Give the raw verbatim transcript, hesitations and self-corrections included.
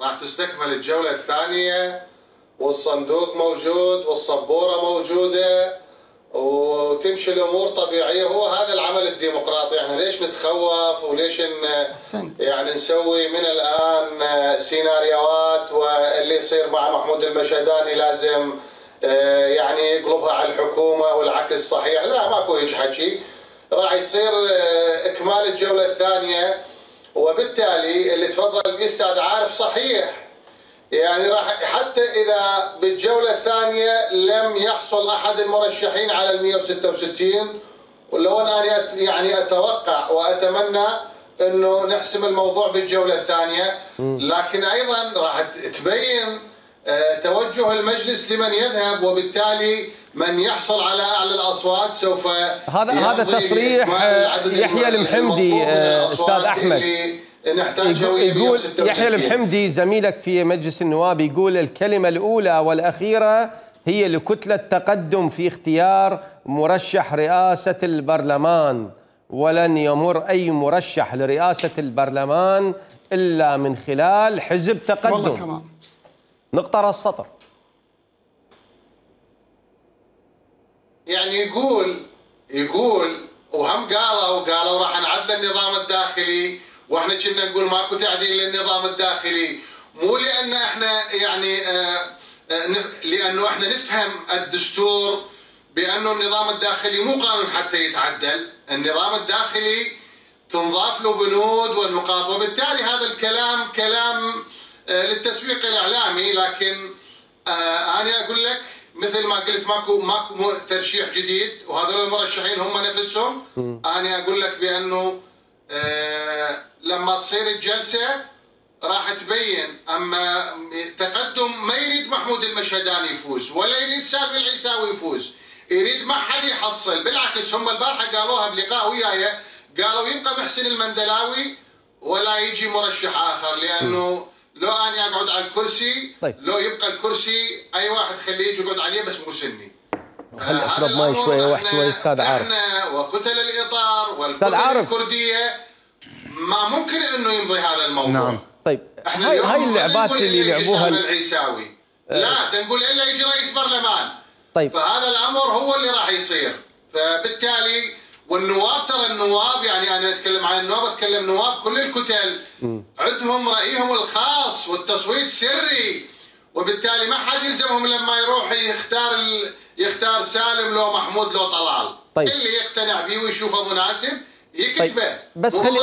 راح تستكمل الجولة الثانية والصندوق موجود والصبورة موجودة وتمشي الأمور طبيعية. هو هذا العمل الديمقراطي. يعني ليش نتخوف وليش ن... يعني نسوي من الآن سيناريوهات واللي يصير مع محمود المشهداني لازم يعني يقلبها على الحكومة والعكس صحيح؟ لا، ماكو هيك حكي. راح يصير إكمال الجولة الثانية، وبالتالي اللي تفضل به استاذ عارف صحيح. يعني راح حتى اذا بالجوله الثانيه لم يحصل احد المرشحين على ال مئة وستة وستين، ولو انا يعني اتوقع واتمنى انه نحسم الموضوع بالجوله الثانيه، لكن ايضا راح تبين توجه المجلس لمن يذهب، وبالتالي من يحصل على اعلى الاصوات سوف هذا هذا تصريح يحيى المحمدي. استاذ احمد يقول يحيى المحمدي زميلك في مجلس النواب يقول الكلمة الأولى والأخيرة هي لكتلة تقدم في اختيار مرشح رئاسة البرلمان، ولن يمر أي مرشح لرئاسة البرلمان إلا من خلال حزب تقدم. والله كمان نقطة راس السطر. يعني يقول يقول وهم قالوا قالوا راح نعدل النظام الداخلي، واحنا كنا نقول ماكو تعديل للنظام الداخلي، مو لان احنا يعني آآ آآ لانه احنا نفهم الدستور بانه النظام الداخلي مو قانون حتى يتعدل، النظام الداخلي تنضاف له بنود والنقاط، وبالتالي هذا الكلام كلام للتسويق الاعلامي. لكن انا اقول لك مثل ما قلت ماكو ماكو ترشيح جديد، وهذول المرشحين هم نفسهم. انا اقول لك بانه لما تصير الجلسة راح تبين. أما تقدم ما يريد محمود المشهداني يفوز، ولا يريد سالم العيساوي يفوز، يريد ما حد يحصل. بالعكس هم البارحة قالوها بلقاء وياي، قالوا يبقى محسن المندلاوي ولا يجي مرشح آخر، لأنه لو أنا أقعد على الكرسي طيب. لو يبقى الكرسي أي واحد خليه يجي يقعد عليه بس مو سني. خلي أشرب ماي شوية واحد شوي أستاذ عارف. احنا وكتل الإطار والكتل الكردية ما ممكن انه يمضي هذا الموضوع. نعم. طيب هاي هاي اللعبات اللي لعبوها العيساوي أه لا تنقول الا يجي رئيس برلمان. طيب فهذا الامر هو اللي راح يصير. فبالتالي والنواب ترى النواب يعني انا اتكلم عن النواب، اتكلم نواب كل الكتل م. عندهم رايهم الخاص والتصويت سري، وبالتالي ما حد يلزمهم لما يروح يختار ال... يختار سالم لو محمود لو طلال. طيب. اللي يقتنع به ويشوفه مناسب يكتبه. طيب. بس خلي